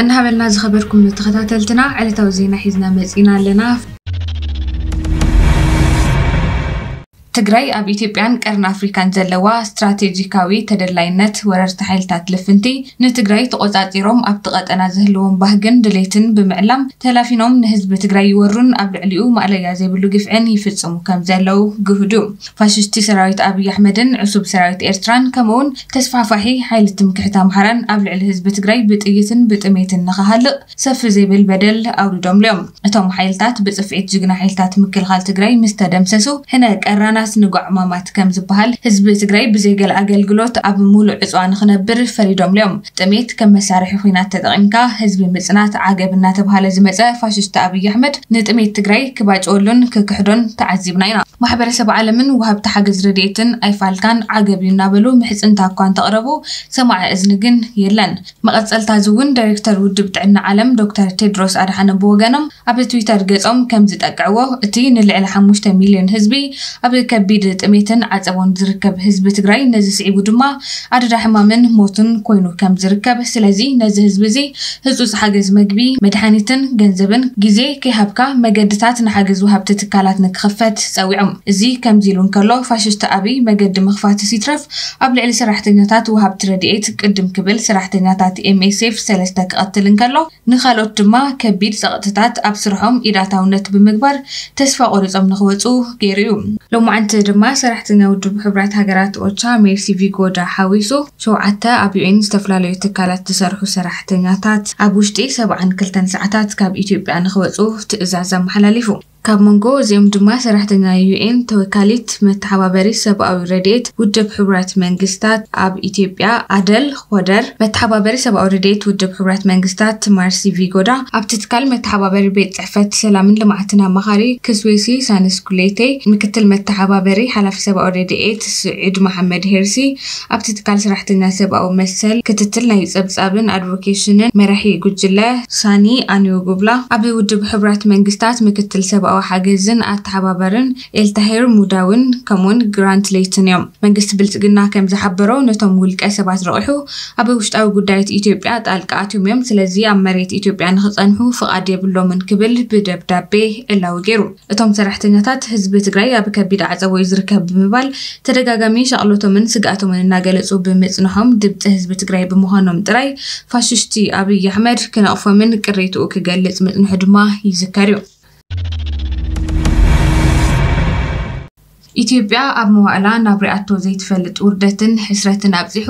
እናሃበልና ዝኸበርኩም ተኸታተልትና ዕለታዊ ዜና ሒዝና መጺና ኣለና። ትግራይ ኣብ ኢትዮጵያን ቀርኒ ኣፍሪካን ዘለዋ ስትራቴጂካዊ ተደላይነት፣ ወረርቲ ሓይልታት ልፍንቲ ንትግራይ ተቆጻጺሮም ኣብቲ ቀጠና ዝህልዎም ባህግን ድሌትን ብምዕላም ተላፊኖም ንህዝቢ ትግራይ ይወሩን ኣብ ልዕሊኡ ማእለያ ዘይብሉ ግፍዕን ይፍጽሙ ከም ዘለዉ ግሁድ እዩ። ፋሽስቲ ሰራዊት ኣብይ ኣሕመድን ዕሱብ ሰራዊት ኤርትራን ከምኡውን ተስፋሕፋሒ ሓይሊ ትምክሕቲ ኣምሓራን ኣብ ልዕሊ ህዝቢ ትግራይ ብጥይትን ብጥሜትን ንኸሃልቕ ሰፍ ዘይብል በደል ኣውሪዶምሉ እዮም። እቶም ሓይልታት ብጽፍዒት ጅግና ሓይልታት ምክልኻል ትግራይ ምስ ተደምሰሱ፣ ሕነ ቀራናት ንጓዕ ማማት ከም ዝበሃል፣ ህዝቢ ትግራይ ብዘይ ገለ ኣገልግሎት ኣብ ሙሉእ ዕጽዋ ንኽነብር ፈሪዶምሉ እዮም። ጥሜት ከም መሳርሒ ኹናት ተጠቒምካ ህዝቢ ምጽናት ዓገብ እናተብሃለ ዝመጸ ፋሽስት ኣብይ ኣሕመድ፣ ንጥሜት ትግራይ ክባጭወሉን ክክሕዶን ተዓዚብና ኢና። ማሕበረሰብ ዓለምን ወሃብቲ ሓገዝ ረድኤትን ኣይፋልካን፣ ዓገብ እዩ እናበሉ ምሕጽንታ እኳ እንተቕረቡ፣ ሰማዒ እዝኒ ግን የለን። መቐጸልታ እዚ እውን ዳይሬክተር ውድብ ጥዕና ዓለም ዶክተር ቴድሮስ ኣድሓኖም ብወገኖም ኣብ ትዊተር ገጾም ከም ዝጠቅዕዎ፣ እቲ ንልዕሊ ሓሙሽተ ሚልዮን ህዝቢ ኣብ ከቢድ ጥሜትን ዓጸቦን ዝርከብ ህዝቢ ትግራይ ነዚ ስዒቡ ድማ ኣደዳ ሕማምን ሞትን ኮይኑ ከም ዝርከብ፣ ስለዚ ነዚ ህዝቢ እዚ ህጹጽ ሓገዝ መግቢ፣ መድሓኒትን ገንዘብን ግዜ ከይሃብካ መገድታት ንሓገዝ ወሃብቲ ትካላት ንክኽፈት ጸዊዖም። እዚ ከምዚ ኢሉ እንከሎ፣ ፋሽስት ኣብይ መገዲ ምኽፋትስ ይትረፍ ኣብ ልዕሊ ሰራሕተኛታት ወሃብቲ ረድኤት ቅድም ክብል ሰራሕተኛታት ኤምኤስኤፍ ሰለስተ ክቐትል እንከሎ፣ ንኻልኦት ድማ ከቢድ ጸቕጥታት ኣብ ስርሖም ኢዳታውነት ብምግባር ተስፋ ቆሪጾም ንኽወጹ ገይሩ እዩ። ሎማዓንቲ ድማ ሰራሕተኛ ውድብ ሕቡራት ሃገራት ኦቻ ሜርሲ ቪጎዳ ሓዊሱ ሸውዓተ ኣብ ዩኤን ዝተፈላለዩ ትካላት ዝሰርሑ ሰራሕተኛታት ኣብ ውሽጢ ሰብዓን ክልተን ሰዓታት ካብ ኢትዮጵያ ንኽወጹ ትእዛዝ ኣመሓላሊፉ። ካብ መንጎ እዚኦም ድማ ሰራሕተኛ ዩኤን ተወካሊት መተሓባበሪ ሰብኣዊ ረድኤት ውድብ ሕቡራት መንግስታት ኣብ ኢትዮጵያ ኣደል ኾደር፣ መተሓባበሪ ሰብኣዊ ረድኤት ውድብ ሕቡራት መንግስታት ማርሲ ቪጎዳ፣ ኣብቲ ትካል መተሓባበሪ ቤት ጽሕፈት ሰላምን ልምዓትን ኣማኻሪ ክስዌሲ ሳንስኩሌቴ፣ ምክትል መተሓባበሪ ሓላፊ ሰብኣዊ ረድኤት ስዒድ መሓመድ ሄርሲ፣ ኣብቲ ትካል ሰራሕተኛ ሰብኣዊ መሰል ክትትል ናይ ጸብጻብን ኣድቮኬሽንን መራሒ ጉጅለ ሳኒ ኣንዮጉብላ፣ ኣብ ውድብ ሕቡራት መንግስታት ምክትል ሰብኣዊ ሓገዝን ኣተሓባባርን ኤልታሄር ሙዳውን ከምኡውን ግራንት ሌይትን እዮም። መንግስቲ ብልጽግና ከም ዝሓበሮ፣ ነቶም ውልቀ ሰባት ረቑሑ ኣብ ውሽጣዊ ጉዳያት ኢትዮጵያ ጣልቃ ኣትዮም እዮም። ስለዚ ኣብ መሬት ኢትዮጵያ ንኽጸንሑ ፍቓድ የብሎምን ክብል ብደብዳቤ ዕላዊ ገይሩ። እቶም ሰራሕተኛታት ህዝቢ ትግራይ ኣብ ከቢድ ዓጸቦ እዩ ዝርከብ ብምባል ተደጋጋሚ ሻቕሎቶምን ስግኣቶምን እናገለጹ ብምጽንሖም ድምጺ ህዝቢ ትግራይ ብምዃኖም ጥራይ ፋሽስቲ ኣብይ ኣሕመድ ክነቕፎምን ቅሬትኡ ክገልጽ ምጽንሑ ድማ ይዝከር እዩ። ኢትዮጵያ ኣብ መዋእላ ናብ ሪኣቶ ዘይትፈልጥ ውርደትን ሕስረትን ኣብጺሑ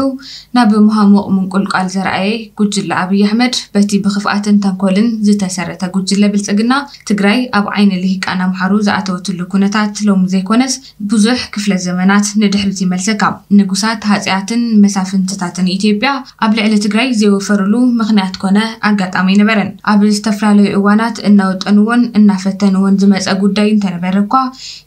ናብ መሃሙቕ ምንቁልቋል ዘርኣየ ጉጅለ ኣብይ ኣሕመድ፣ በቲ ብኽፍኣትን ተንኮልን ዝተሰረተ ጉጅለ ብልጽግና፣ ትግራይ ኣብ ዓይኒ ልሂቃን ኣምሓሩ ዝኣተወትሉ ኩነታት ሎሚ ዘይኮነስ ብዙሕ ክፍለ ዘመናት ንድሕሪት ይመልሰካ። ንጉሳት፣ ሃጸያትን መሳፍንትታትን ኢትዮጵያ ኣብ ልዕሊ ትግራይ ዘይወፈሩሉ ምኽንያት ኮነ ኣጋጣሚ ኣይነበረን። ኣብ ዝተፈላለዩ እዋናት እናወጠንዎን እናፈተንዎን ዝመጸ ጉዳይ እንተነበረ እኳ፣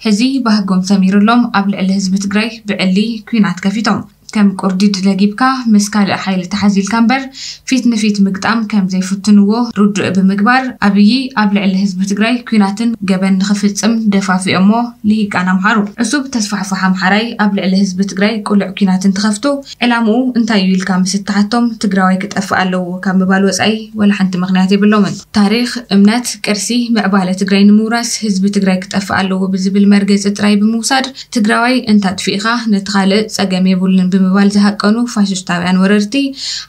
ሕዚ ባህጎም ሰሚሩሎም ኣብ ልዕሊ ህዝቢ ትግራይ ብዕሊ ኲናት ከፊቶም። ከም ቁርዲድ ለጊብካ ምስ ካልእ ሓይሊ ተሓዚልካ እምበር ፊት ንፊት ምግጣም ከም ዘይፍትንዎ ርዱእ ብምግባር፣ ኣብዪ ኣብ ልዕሊ ህዝቢ ትግራይ ኲናትን ገበን ንኽፍጽም ደፋፊኦሞ ልሂቃን ኣምሓሩ። ዕሱብ ተስፋሕፋሕ ኣምሓራይ ኣብ ልዕሊ ህዝቢ ትግራይ ቅሉዕ ኲናት እንትኸፍቱ፣ ዕላምኡ እንታይ እዩ ኢልካ ምስ እተሓቶም፣ ትግራዋይ ክጠፍእ ኣለዎ ካብ ምባል ወጻኢ ወላ ሓንቲ ምኽንያት የብሎምን። ታሪኽ፣ እምነት፣ ቅርሲ፣ ምዕባለ ትግራይ ንምውራስ ህዝቢ ትግራይ ክጠፍእ ኣለዎ ብዝብል መርገጺ ጥራይ ብምውሳድ፣ ትግራዋይ እንተ ኣጥፊእኻ ነቲ ካልእ ጸገም የብሉን ብምባል ዝሃቀኑ ፋሽስታውያን ወረርቲ፣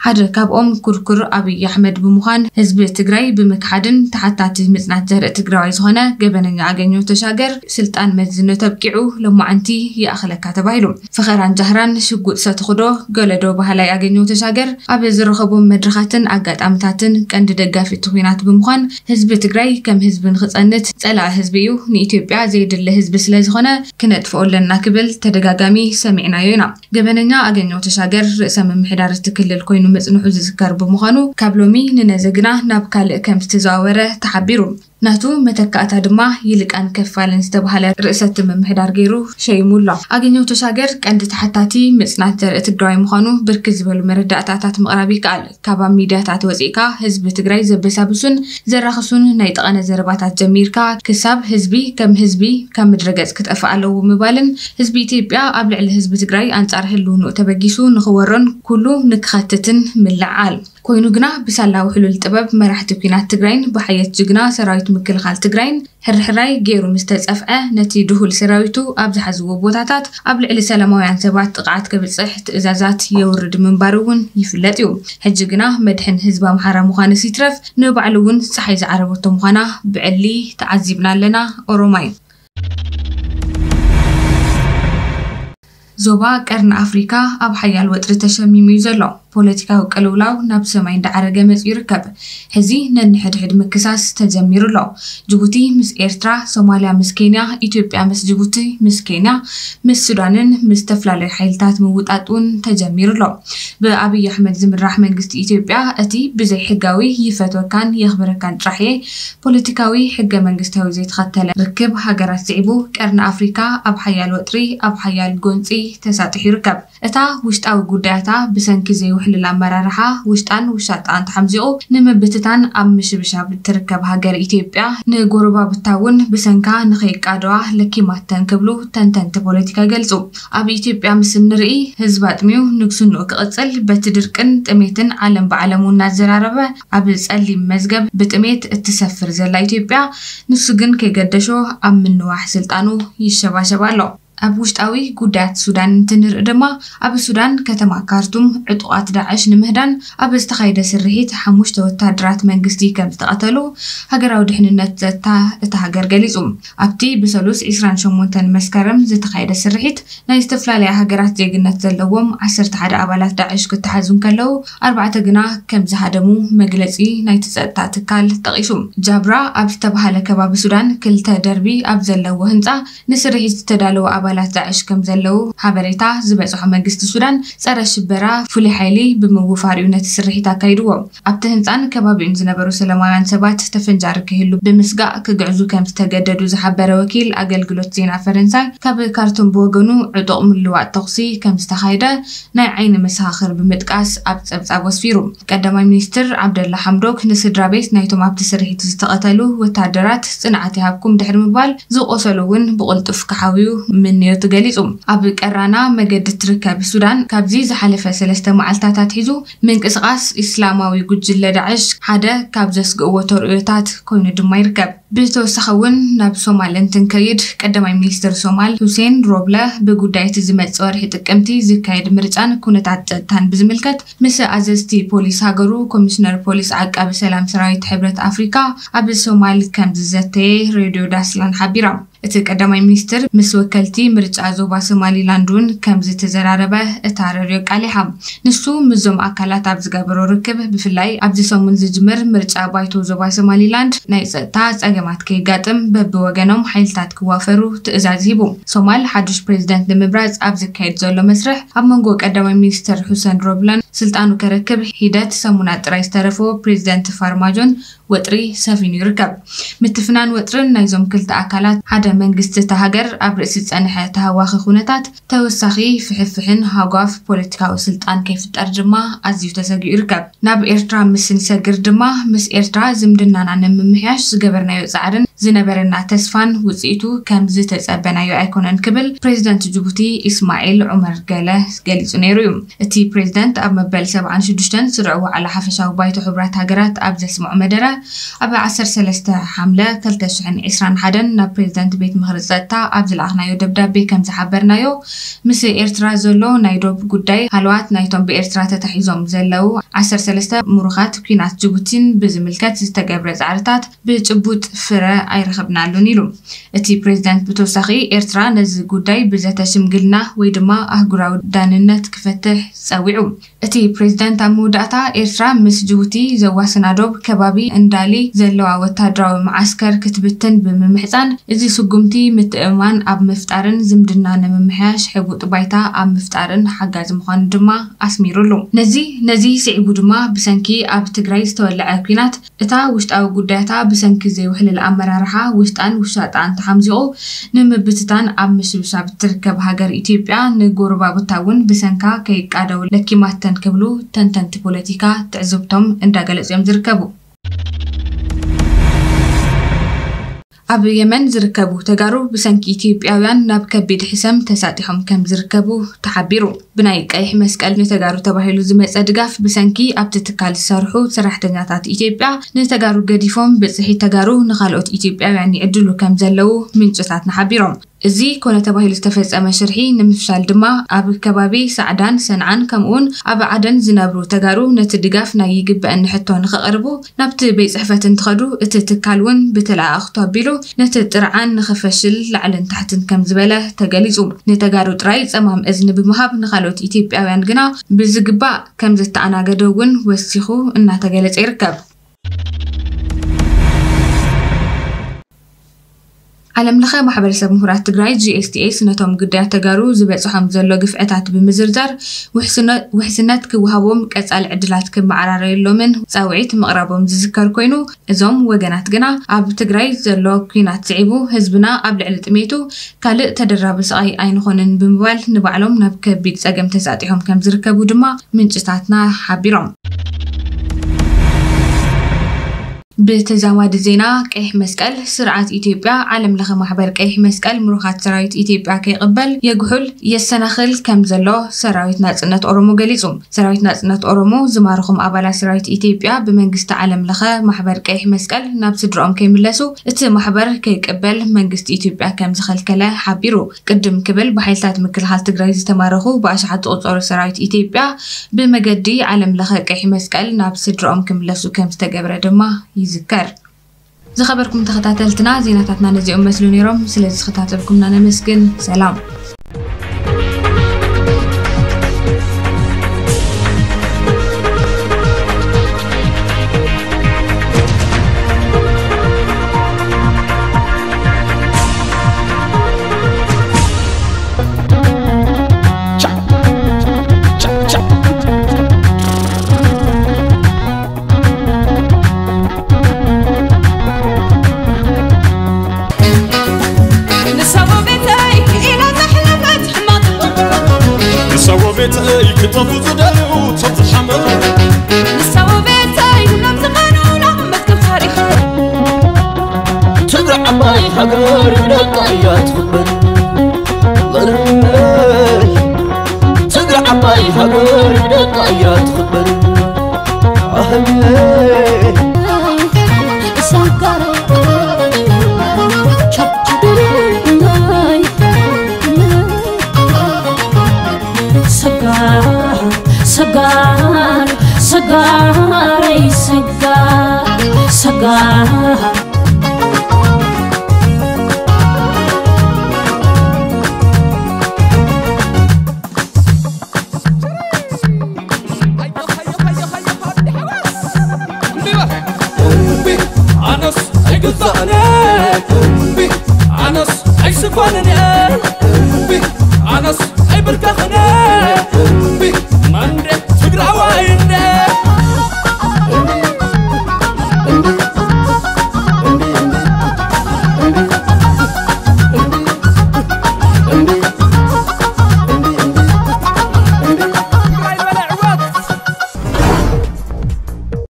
ሓደ ካብኦም ኩርኩር ኣብይ ኣሕመድ ብምዃን፣ ህዝቢ ትግራይ ብምክሓድን ተሓታቲ ምጽናት ዘርኢ ትግራዋይ ዝኾነ ገበነኛ ኣገኘሁ ተሻገር፣ ስልጣን መዝነቱ ኣብቂዑ፣ ሎማዓንቲ ይኣኽለካ ተባሂሉ። ፈኸራን ጃህራን ሽጉጥ ሰትኹዶ ገለዶ በሃላይ ኣገኘሁ ተሻገር፣ ኣብ ዝረኸቦም መድረኻትን ኣጋጣምታትን ቀንዲ ደጋፊ እቲ ኲናት ብምዃን፣ ህዝቢ ትግራይ ከም ህዝቢ ንኽጸንት ጸላኢ ህዝቢ እዩ፣ ንኢትዮጵያ ዘየድሊ ህዝቢ ስለ ዝኾነ ክነጥፍኦ ኣለና ክብል ተደጋጋሚ ሰሚዕናዮ ኢና። ገበነኛ ኣገኘሁ ተሻገር ርእሰ ምምሕዳር እቲ ክልል ኮይኑ ምጽንሑ ዝዝከር ብምዃኑ፣ ካብ ሎሚ ንነዘ ግና ናብ ካልእ ከም ዝተዘዋወረ ተሓቢሩ። ናቱ መተካእታ ድማ ይልቃን ከፋልን ዝተባህለ ርእሰ እቲ ምምሕዳር ገይሩ ሸይሙ ኣሎ። ኣገኘሁ ተሻገር ቀንዲ ተሓታቲ ምጽናት ዘርኢ ትግራዋይ ምዃኑ ብርክት ዝበሉ መረዳእታታት ምቕራብ ይከኣል። ካብ ኣብ ሚድያታት ወጺእካ ህዝቢ ትግራይ ዘበሳብሱን ዘራኽሱን ናይ ጠቐነ ዘረባታት ጀሚርካ፣ ክሳብ ህዝቢ ከም ህዝቢ ካብ ምድረ ገጽ ክጠፍእ ኣለዎ ምባልን፣ ህዝቢ ኢትዮጵያ ኣብ ልዕሊ ህዝቢ ትግራይ ኣንጻር ህልውንኡ ተበጊሱ ንኽወሮን ኩሉ ንክኸትትን ምልዕዓል። ኮይኑ ግና ብሳላ ውሕሉል ጥበብ መራሕቲ ኲናት ትግራይን ብሓየት ጅግና ሰራዊት ምክልኻል ትግራይን ሕርሕራይ ገይሩ ምስ ተጸፍዐ፣ ነቲ ድሁል ሰራዊቱ ኣብ ዝሓዝዎ ቦታታት ኣብ ልዕሊ ሰላማውያን ሰባት ጥቕዓት ከብጽሕ ትእዛዛት የውርድ ምንባሩ እውን ይፍለጥ እዩ። ሕጂ ግና መድሕን ህዝቢ ኣምሓራ ምዃንስ ይትረፍ ንባዕሉ እውን ጸሓይ ዝዓረበቶ ምዃና ብዕሊ ተዓዚብና ኣለና። ኦሮማይ። ዞባ ቀርኒ ኣፍሪካ ኣብ ሓያል ወጥሪ ተሸሚሙ እዩ ዘሎ። ፖለቲካዊ ቅልውላው ናብ ሰማይ እንዳዓረገ መፂኡ ይርከብ። ሕዚ ነንሕድሕድ ምክሳስ ተጀሚሩ ኣሎ። ጅቡቲ ምስ ኤርትራ፣ ሶማልያ ምስ ኬንያ፣ ኢትዮጵያ ምስ ጅቡቲ፣ ምስ ኬንያ፣ ምስ ሱዳንን ምስ ዝተፈላለዩ ሓይልታት ምውጣጥ እውን ተጀሚሩ ኣሎ። ብኣብይ ኣሕመድ ዝምራሕ መንግስቲ ኢትዮጵያ እቲ ብዘይ ሕጋዊ ይፈትወካን የኽብረካን ጥራሕ እየ ፖለቲካዊ ሕገ መንግስታዊ ዘይተኸተለ ርክብ ሃገራት ስዒቡ ቀርኒ ኣፍሪካ ኣብ ሓያል ወጥሪ ኣብ ሓያል ጎንፂ ተሳጢሑ ይርከብ። እታ ውሽጣዊ ጉዳያታ ብሰንኪ ዘይውሕልል ኣመራርሓ ውሽጣን ውሻጣን ተሓምዚቑ ንምብትታን ኣብ ምሽብሻብ እትርከብ ሃገር ኢትዮጵያ ንጎረባብታ እውን ብሰንካ ንኸይቃደዋ ለኪማተን ክብሉ ተንተንቲ ፖለቲካ ይገልጹ። ኣብ ኢትዮጵያ ምስ እንርኢ ህዝቢ ኣጥሚዩ ንግስንኡ ክቕጽል በቲ ድርቅን ጥሜትን ዓለም ብዓለሙ እናዘራረበ ኣብ ጸሊም መዝገብ ብጥሜት እትሰፍር ዘላ ኢትዮጵያ ንሱ ግን ከይገደሾ ኣብ ምንዋሕ ስልጣኑ ይሸባሸብ ኣሎ። ኣብ ውሽጣዊ ጉዳያት ሱዳን እንትንርኢ ድማ ኣብ ሱዳን ከተማ ካርቱም ዕጡቓት ዳዕሽ ንምህዳን ኣብ ዝተኻየደ ስርሒት ሓሙሽተ ወታደራት መንግስቲ ከም ዝተቐተሉ ሃገራዊ ድሕንነት ጸጥታ እታ ሃገር ገሊጹ። ኣብቲ ብሰሉስ ዕስራን ሸሞንተን መስከረም ዝተኻየደ ስርሒት ናይ ዝተፈላለያ ሃገራት ዜግነት ዘለዎም ዓሰርተ ሓደ ኣባላት ዳዕሽ ክተሓዙ እንከለዉ ኣርባዕተ ግና ከም ዝሃደሙ መግለጺ ናይቲ ጸጥታ ትካል ጠቒሱ። ጃብራ ኣብ ዝተባሃለ ከባቢ ሱዳን ክልተ ደርቢ ኣብ ዘለዎ ህንጻ ንስርሒት ዝተዳለዉ ኣባላት ዳዕሽ ከም ዘለዉ ሓበሬታ ዝበጽሖ መንግስቲ ሱዳን ጸረ ሽበራ ፍሉይ ሓይሊ ብምውፋር እዩ ነቲ ስርሒት ኣካይድዎ። ኣብቲ ህንጻን ከባቢኡን ዝነበሩ ሰላማውያን ሰባት ተፈንጃሪ ክህሉ ብምስጋእ ክግዕዙ ከም ዝተገደዱ ዝሓበረ ወኪል ኣገልግሎት ዜና ፈረንሳይ ካብ ካርቱም ብወገኑ ዕጡቕ ምልዋጥ ተኹሲ ከም ዝተኻየደ ናይ ዓይኒ መሰኻኽር ብምጥቃስ ኣብ ጸብጻቡ ኣስፊሩ። ቀዳማይ ሚኒስትር ዓብደላ ሓምዶክ ንስድራ ቤት ናይቶም ኣብቲ ስርሒት ዝተቐተሉ ወታደራት ጽንዓት ይሃብኩም ድሕሪ ምባል፣ ዝቖሰሉ እውን ብቕልጡፍ ክሓውዩ ምንዮቱ ገሊጹ። ኣብ ቀራና መገዲ እትርከብ ሱዳን ካብዚ ዝሓለፈ ሰለስተ መዓልታት ኣትሒዙ ምንቅስቓስ ኢስላማዊ ጉጅለ ዳዕሽ ሓደ ካብ ዘስግእዎ ተርእዮታት ኮይኑ ድማ ይርከብ። ብተወሳኺ እውን ናብ ሶማል እንትንከይድ ቀዳማይ ሚኒስትር ሶማል ሁሴን ሮብለ ብጉዳይ እቲ ዝመጽእ ወርሒ ጥቅምቲ ዝካየድ ምርጫን ኩነታት ጸጥታን ብዝምልከት ምስ ኣዘዝቲ ፖሊስ ሃገሩ ኮሚሽነር ፖሊስ ዓቃቢ ሰላም ሰራዊት ሕብረት ኣፍሪካ ኣብ ሶማል ከም ዝዘተየ ሬድዮ ዳስላን ሓቢራ። እቲ ቀዳማይ ሚኒስትር ምስ ወከልቲ ምርጫ ዞባ ሶማሊላንድ እውን ከም ዝተዘራረበ እታ ሬድዮ ኣቃሊሓ። ንሱ ምስዞም ኣካላት ኣብ ዝገበሮ ርክብ ብፍላይ ኣብዚ ሰሙን ዝጅምር ምርጫ ባይቶ ዞባ ሶማሊላንድ ናይ ጸጥታ ጸገማት ከይጋጥም በብወገኖም ሓይልታት ክዋፈሩ ትእዛዝ ሂቡ። ሶማል ሓዱሽ ፕሬዝደንት ንምምራጽ ኣብ ዝካየድ ዘሎ መስርሕ ኣብ መንጎ ቀዳማይ ሚኒስትር ሁሰን ሮብለን ስልጣኑ ከረክብ ሒደት ሰሙናት ጥራይ ዝተረፎ ፕሬዝደንት ፋርማጆን ወጥሪ ሰፊኑ ይርከብ። ምትፍናን ወጥርን ናይዞም ክልተ ኣካላት ሓደ መንግስቲ እታ ሃገር ኣብ ርእሲ ዝጸንሐ ተሃዋኺ ኩነታት ተወሳኺ ፍሕፍሕን ሃጓፍ ፖለቲካዊ ስልጣን ከይፍጠር ድማ ኣዝዩ ተሰጊኡ ይርከብ። ናብ ኤርትራ ምስ ንሰግር ድማ ምስ ኤርትራ ዝምድናና ንምምሕያሽ ዝገበርናዮ ጻዕርን ዝነበረና ተስፋን ውጽኢቱ ከም ዝተጸበናዮ ኣይኮነን ክብል ፕሬዝደንት ጅቡቲ ኢስማዒል ዑመር ገለ ገሊጹ ነይሩ እዩ። እቲ ፕሬዝደንት ኣብ መበል ሰብዓን ሽዱሽተን ስሩዕ ዋዕላ ሓፈሻዊ ባይቶ ሕቡራት ሃገራት ኣብ ዘስምዖ መደረ ኣብ ዓሰርተ ሰለስተ ሓምለ ክልተ ሽሕን ዕስራን ሓደን ናብ ፕሬዝደንት ቤት ምኽሪ ጸጥታ ኣብ ዝለኣኽናዮ ደብዳቤ ከም ዝሓበርናዮ ምስ ኤርትራ ዘሎ ናይ ዶብ ጉዳይ ሃለዋት ናይቶም ብኤርትራ ተታሒዞም ዘለዉ ዓሰርተ ሰለስተ ምሩኻት ኲናት ጅቡቲን ብዝምልከት ዝተገብረ ጻዕርታት ብጭቡጥ ፍረ ኣይረኸብናሉን ኢሉ። እቲ ፕሬዝደንት ብተወሳኺ ኤርትራ ነዚ ጉዳይ ብዘተ ሽምግልና ወይ ድማ ኣህጉራዊ ዳንነት ክፈትሕ ጸዊዑ። እቲ ፕሬዝደንት ኣብ መወዳእታ ኤርትራ ምስ ጅቡቲ ዘዋስና ዶብ ከባቢ እንዳሊ ዘለዋ ወታደራዊ መዓስከር ክትብትን ብምምሕጻን እዚ ስጉምቲ ምትእምማን ኣብ ምፍጣርን ዝምድና ንምምሕያሽ ሕቡጥ ባይታ ኣብ ምፍጣርን ሓጋዚ ምዃኑ ድማ ኣስሚሩሉ። ነዚ ነዚ ስዒቡ ድማ ብሰንኪ ኣብ ትግራይ ዝተወለዐ ኲናት እታ ውሽጣዊ ጉዳያታ ብሰንኪ ዘይውሕልል ኣመራርሓ ውሽጣን ውሻጣን ተሓምዚቑ ንምብትታን ኣብ ምሽብሻብ እትርከብ ሃገር ኢትዮጵያ ንጎረባብታ እውን ብሰንካ ከይቃደው ለኪማተን ክብሉ ተንተንቲ ፖለቲካ ትዕዝብቶም እንዳገለጹ እዮም ዝርከቡ። ኣብ የመን ዝርከቡ ተጋሩ ብሰንኪ ኢትዮጵያውያን ናብ ከቢድ ሕሰም ተሳጢሖም ከም ዝርከቡ ተሓቢሩ። ብናይ ቀይሕ መስቀል ንተጋሩ ተባሂሉ ዝመጸ ድጋፍ ብሰንኪ ኣብቲ ትካል ዝሰርሑ ሰራሕተኛታት ኢትዮጵያ ንተጋሩ ገዲፎም ብጽሒት ተጋሩ ንኻልኦት ኢትዮጵያውያን ይዕድሉ ከም ዘለዉ ምንጭታትና ሓቢሮም። እዚ ኮነ ተባሂሉ ዝተፈጸመ ሽርሒ ንምፍሻል ድማ ኣብ ከባቢ ሳዕዳን ሰንዓን ከምኡውን ኣብ ዓደን ዝነብሩ ተጋሩ ነቲ ድጋፍ ናይ ይግበአኒ ሕቶ ንኸቕርቡ ናብቲ ቤት ጽሕፈት እንትኸዱ እቲ ትካል እውን ብተለኣኣኽቱ ኣቢሉ ነቲ ጥርዓን ንኸፈሽል ላዕልን ታሕትን ከም ዝበለ ተገሊጹ። ንተጋሩ ጥራይ ጸማም እዝኒ ብምሃብ ንኻልኦት ኢትዮጵያውያን ግና ብዝግባእ ከም ዘተኣናገደ እውን ወሲኹ እናተገለጸ ይርከብ። ዓለም ለኸ ማሕበረሰብ ምሁራት ትግራይ ጂ ኤስ ቲ ኤስ ነቶም ግዳያት ተጋሩ ዝበፅሖም ዘሎ ግፍዕታት ብምዝርዛር ውሕስነ- ውሕስነት ክወሃቦም ቀፃሊ ዕድላት ክመዓራረየሎምን ፃውዒት ምቕራቦም ዝዝከር ኮይኑ እዞም ወገናት ግና ኣብ ትግራይ ዘሎ ኲናት ስዒቡ ህዝብና ኣብ ልዕሊ ጥሜቱ ካልእ ተደራቢ ስቓይ ኣይንኾንን ብምባል ንባዕሎም ናብ ከቢድ ፀገም ተሳጢሖም ከም ዝርከቡ ድማ ምንጭታትና ሓቢሮም። ብተዛማዲ ዜና ቀይሕ መስቀል ስርዓት ኢትዮጵያ ዓለም ለኸ ማሕበር ቀይሕ መስቀል ምሩኻት ሰራዊት ኢትዮጵያ ከይቕበል የጉሑል የሰናኽል ከም ዘሎ ሰራዊት ናጽነት ኦሮሞ ገሊጹ። ሰራዊት ናጽነት ኦሮሞ ዝማረኹም ኣባላት ሰራዊት ኢትዮጵያ ብመንግስቲ ዓለም ለኸ ማሕበር ቀይሕ መስቀል ናብ ስድራኦም ከይምለሱ እቲ ማሕበር ከይቅበል መንግስቲ ኢትዮጵያ ከም ዝኸልከለ ሓቢሩ። ቅድም ክብል ብሓይልታት ምክልኻል ትግራይ ዝተማረኹ ብኣሽሓት ዝቑጸሩ ሰራዊት ኢትዮጵያ ብመገዲ ዓለም ለኸ ቀይሕ መስቀል ናብ ስድራኦም ክምለሱ ከም ዝተገብረ ድማ ይዝከር። ዝኸበርኩም ተኸታተልትና ዜናታትና ነዚኦም መስሉ ነይሮም። ስለ ዝተኸታተልኩምና ነመስግን። ሰላም።